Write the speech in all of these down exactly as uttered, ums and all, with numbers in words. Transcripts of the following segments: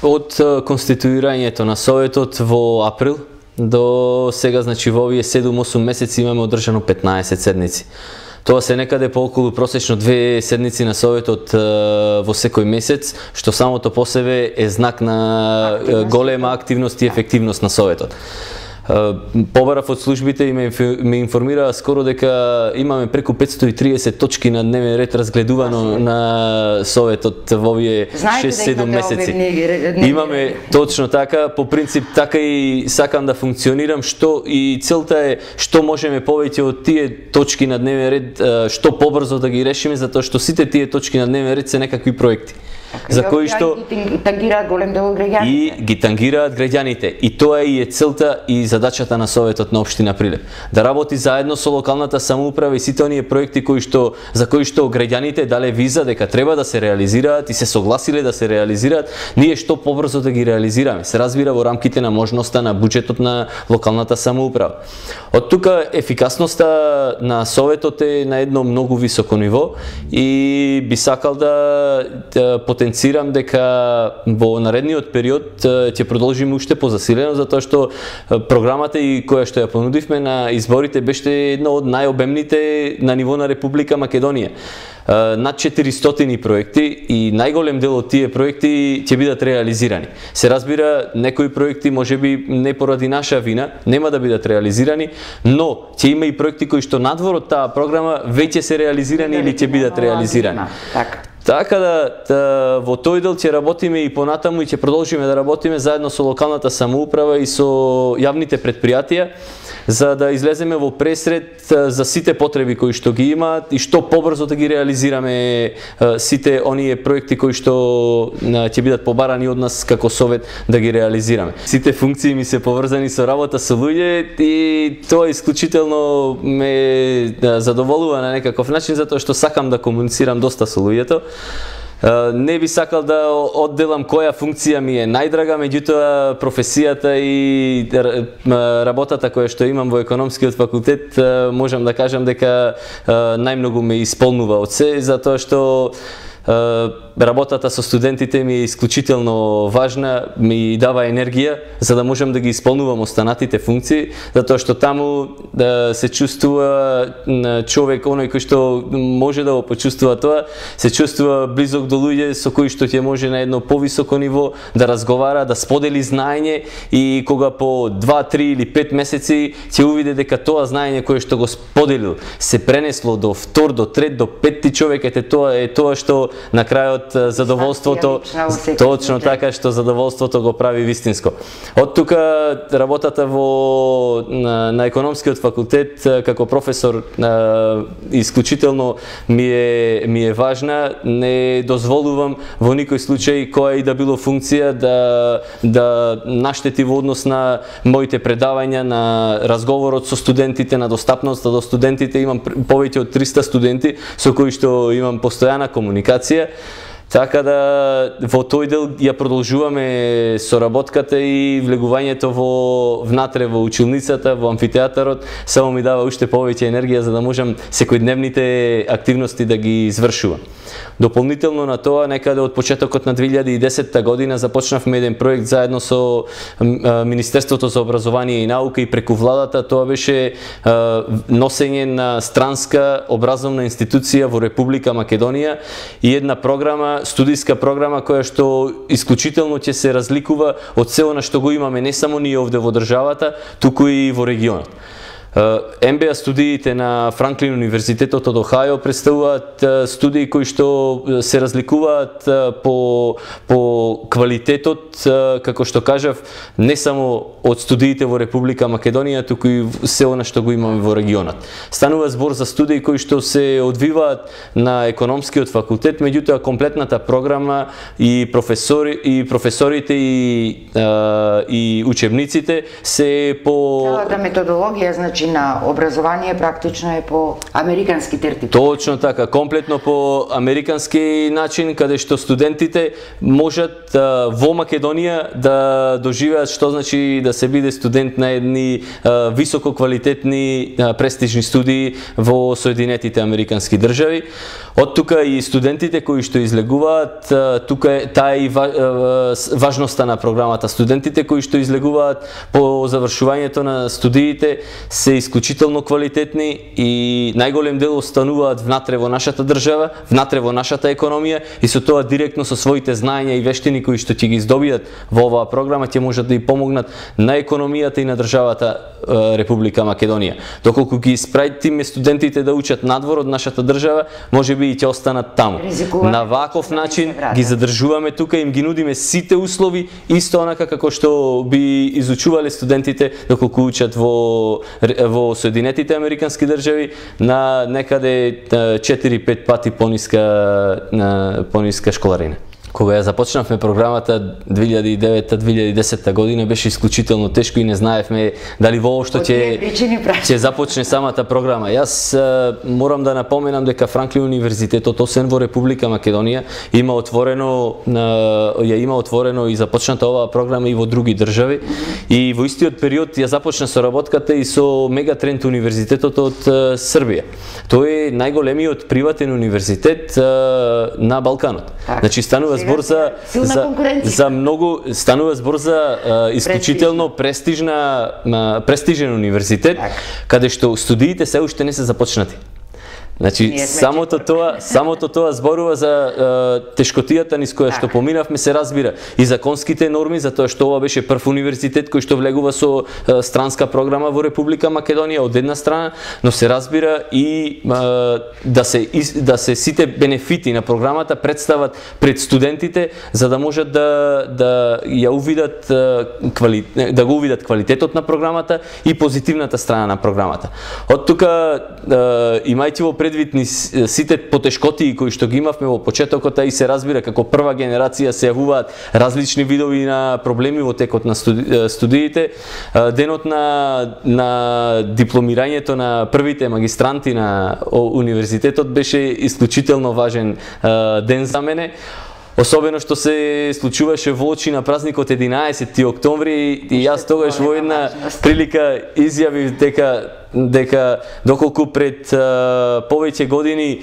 од конституирањето на Советот во април до сега, значи во овие седум-осум месеци имаме одржано петнаесет седници. Тоа се некаде по околу просечно две седници на Советот во секој месец, што самото по себе е знак на голема активност и ефективност на Советот. Побарав од службите и ме, ме информираа скоро дека имаме преку петстотини и триесет точки на дневен ред разгледувано на Советот во овие шест-седум месеци. Имаме точно така, по принцип така и сакам да функционирам, што и целта е што можеме повеќе од тие точки на дневен ред, што побрзо да ги решиме, затоа што сите тие точки на дневен ред се некакви проекти. За кои што ги тангираат голем дел од граѓаните. И ги тангираат граѓаните. И тоа и е целта и задачата на Советот на општина Прилеп. Да работи заедно со локалната самоуправа и сите оние проекти кои што за кои што граѓаните дале виза дека треба да се реализираат и се согласиле да се реализираат, ние што побрзо да ги реализираме. Се разбира во рамките на можноста на буџетот на локалната самоуправа. Од тука ефикасноста на Советот е на едно многу високо ниво и би сакал да, да потенцирам дека во наредниот период ќе продолжиме уште позасилено, затоа што програмата и која што ја понудивме на изборите беше едно од најобемните на ниво на Република Македонија. Над четиристотини проекти и најголем дел од тие проекти ќе бидат реализирани. Се разбира, некои проекти можеби не поради наша вина нема да бидат реализирани, но ќе има и проекти кои што надвор од таа програма веќе се реализирани или ќе бидат реализирани. Така. Така да, да во тој дел ќе работиме и понатаму и ќе продолжиме да работиме заедно со локалната самоуправа и со јавните предпријатија за да излеземе во пресред за сите потреби кои што ги имаат и што побрзо да ги реализираме сите оние проекти кои што ќе бидат побарани од нас како Совет да ги реализираме. Сите функции ми се поврзани со работа со луѓе и тоа исклучително ме задоволува на некаков начин затоа што сакам да комуницирам доста со луѓето. Не би сакал да одделам која функција ми е најдрага, меѓутоа професијата и работата која што имам во економскиот факултет можам да кажам дека најмногу ме исполнува од се, затоа што работата со студентите ми е исклучително важна, ми дава енергија за да можам да ги исполнувам останатите функции, затоа што таму да се чувствува човек, оној кој што може да го почувствува тоа, се чувствува близок до луѓе со кои што ќе може на едно повисоко ниво да разговара, да сподели знаење и кога по два, три или пет месеци ќе увиде дека тоа знаење кое што го споделил се пренесло до втор, до трет, до петти човек, ете тоа е тоа што на крајот задоволството, точно така што задоволството го прави вистинско. Од тука работата во на, на економскиот факултет како професор исклучително ми е ми е важна, не дозволувам во никој случај која и да било функција да да наштети во однос на моите предавања, на разговорот со студентите, на достапноста до студентите. Имам повеќе од триста студенти со кои што имам постојана комуникација. Така да во тој дел ја продолжуваме соработката и влегувањето во внатре во училницата, во амфитеатарот, само ми дава уште повеќе енергија за да можам секојдневните активности да ги извршувам. Дополнително на тоа, некаде од почетокот на две илјади и десетта година започнавме еден проект заедно со Министерството за образование и наука и преку владата. Тоа беше носење на странска образовна институција во Република Македонија и една програма, студиска програма која што исклучително ќе се разликува од се она што го имаме не само ние овде во државата, туку и во регионот. Ем Би А студиите на Франклин универзитетот од Охајо представуваат студии кои што се разликуваат по по квалитетот, како што кажав, не само од студиите во Република Македонија, туку и се она што го имаме во регионот. Станува збор за студии кои што се одвиваат на економскиот факултет, меѓутоа комплетната програма и професори и професорите и и учебниците се по целата методологија, значи начин на образование практично е по американски тертип. Точно така, комплетно по американски начин, каде што студентите можат а, во Македонија да доживеат што значи да се биде студент на едни а, високо квалитетни а, престижни студии во Соединетите американски држави. Од тука и студентите кои што излегуваат, а, тука е таа и ва, а, важноста на програмата. Студентите кои што излегуваат по завршувањето на студиите се исклучително квалитетни и најголем дел остануваат внатре во нашата држава, внатре во нашата економија и со тоа директно со своите знаења и вештини кои што ќе ги здобиат во оваа програма ќе можат да и помогнат на економијата и на државата Република Македонија. Доколку ги испратиме студентите да учат надвор од нашата држава, можеби и ќе останат таму. Ризикуваме На ваков начин да ги задржуваме тука, им ги нудиме сите услови, исто онака како што би изучувале студентите доколку учат во во Соединетите американски држави на некаде четири-пет пати пониска пониска школарина. Кога ја започнавме програмата две илјади и девета - две илјади и десета година беше исклучително тешко и не знаевме дали воопшто ќе ќе започне самата програма. Јас морам да напоменам дека Франклин универзитетот освен во Република Македонија има отворено ја има отворено и започната оваа програма и во други држави и во истиот период ја започна соработката и со Мегатрend универзитетот од Србија. Тој е најголемиот приватен универзитет на Балканот. Значи станува збор за за, за многу станува збор за а, исклучително престижна а, престижен универзитет каде што студиите се уште не се започнати. Значи самото тоа самото тоа зборува за е, тешкотијата низ која што поминавме, се разбира и законските норми за тоа што ова беше прв универзитет кој што влегува со е, странска програма во Република Македонија од една страна, но се разбира и е, да се да се сите бенефити на програмата представат пред студентите за да можат да да ја увидат квали, да го увидат квалитетот на програмата и позитивната страна на програмата. Од тука е, имајќи во предвид ни сите потешкотии кои што ги имавме во почетокот, и се разбира како прва генерација се јавуваат различни видови на проблеми во текот на студи, студиите. Денот на на дипломирањето на првите магистранти на универзитетот беше исклучително важен ден за мене. Особено што се случуваше во очи на празникот единаесети октомври и јас тогаш во една прилика изјавив дека дека доколку пред а, повеќе години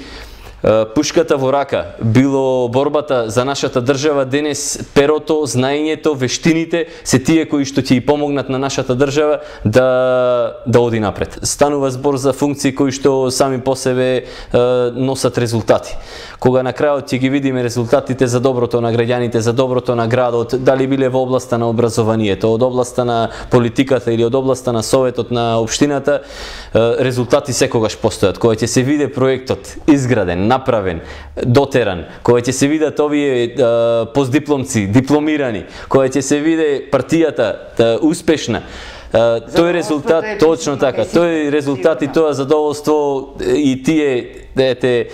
а, пушката во рака било борбата за нашата држава, денес перото, знаењето, вештините се тие кои што ќе и помогнат на нашата држава да да оди напред. Станува збор за функции кои што сами по себе а, носат резултати. Кога на крајот ќе ги видиме резултатите за доброто на граѓаните, за доброто на градот, дали биле во областа на образованието, од областа на политиката или од областа на советот на општината, резултати секогаш постојат. Кога ќе се види проектот изграден, направен, дотеран, кога ќе се видат овие постдипломци дипломирани, кога ќе се види партијата успешна, тој резултат, точно така, тој резултат и тоа задоволство и тие ете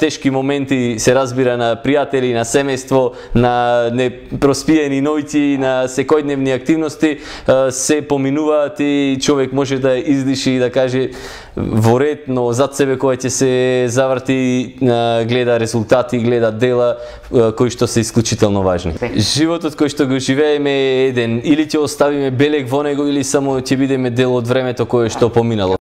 тешки моменти се разбира на пријатели, на семејство, на непроспиени ноќи, на секојдневни активности се поминуваат и човек може да издиши и да каже во ред, но зад себе кој ќе се заврти гледа резултати, гледа дела кои што се исклучително важни. Животот кој што го живееме е еден, или ќе оставиме белег во него или само ќе бидеме дел од времето кое што поминало.